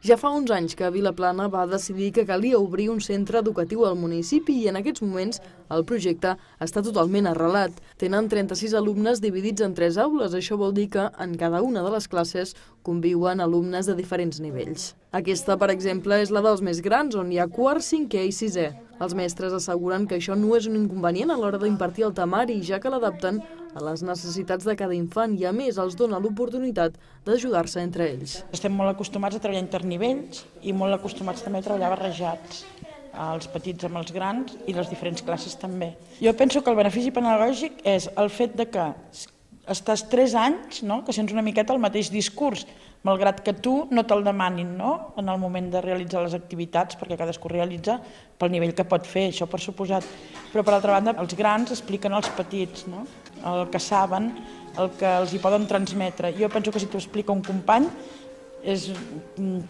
Ja fa uns anys que Vilaplana va decidir que calia obrir un centre educatiu al municipi i en aquests moments el projecte està totalment arrelat. Tenen 36 alumnes dividits en 3 aules. Això vol dir que en cada una de les classes conviuen alumnes de diferents nivells. Aquesta, per exemple, és la dels més grans, on hi ha quart, cinquè i sisè. Els mestres asseguren que això no és un inconvenient a l'hora d'impartir el temari, ja que l'adapten a les necessitats de cada infant i, a més, els dona l'oportunitat d'ajudar-se entre ells. Estem molt acostumats a treballar internivells i molt acostumats també a treballar barrejats, els petits amb els grans i les diferents classes també. Jo penso que el benefici pedagògic és el fet de que estàs 3 anys, que sents una miqueta el mateix discurs, malgrat que tu no te'l demanin en el moment de realitzar les activitats, perquè cadascú realitza pel nivell que pot fer, això per suposat. Però per altra banda, els grans expliquen als petits el que saben, el que els hi poden transmetre. Jo penso que si t'ho explica un company és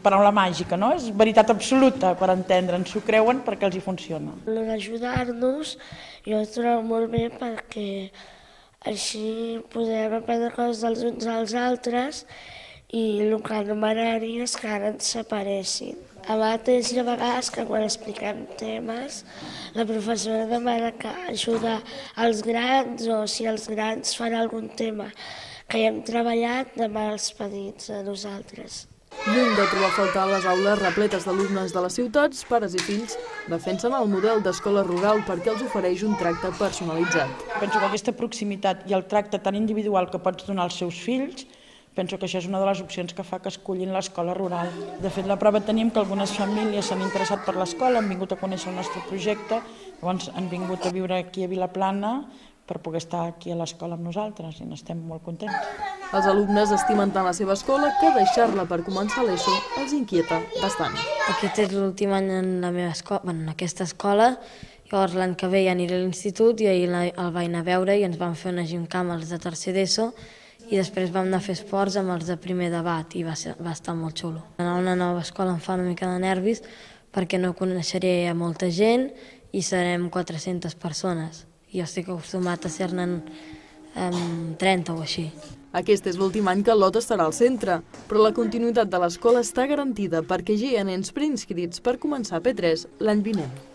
paraula màgica, és veritat absoluta per entendre, s'ho creuen perquè els hi funciona. D'ajudar-nos jo ho trobo molt bé perquè així podem aprendre coses dels uns als altres i el que no m'agradaria és que ara ens separessin. A vegades hi ha vegades que quan expliquem temes la professora demana que ajudar els grans o si els grans fan algun tema que hi hem treballat, demana als petits a nosaltres. Lluny de trobar a faltar les aules repletes d'alumnes de les ciutats, pares i fills defensen el model d'escola rural perquè els ofereix un tracte personalitzat. Penso que aquesta proximitat i el tracte tan individual que pots donar als seus fills, penso que això és una de les opcions que fa que escollin l'escola rural. De fet, la prova tenim que algunes famílies s'han interessat per l'escola, han vingut a conèixer el nostre projecte, llavors han vingut a viure aquí a Vilaplana per poder estar aquí a l'escola amb nosaltres i n'estem molt contents. Els alumnes estimen tant la seva escola que deixar-la per començar l'ESO els inquieta bastant. Aquest és l'últim any en aquesta escola, llavors l'any que ve ja aniré a l'institut i ahir el vaig anar a veure i ens van fer una gimcana els de tercer d'ESO i després vam anar a fer esports amb els de primer debat i va estar molt xulo. Anar a una nova escola em fa una mica de nervis perquè no coneixeré a molta gent i serem 400 persones. Jo estic acostumat a ser-ne 30 o així. Aquest és l'últim any que l'Ot estarà al centre, però la continuïtat de l'escola està garantida perquè ja hi ha nens preinscrits per començar P3 l'any vinent.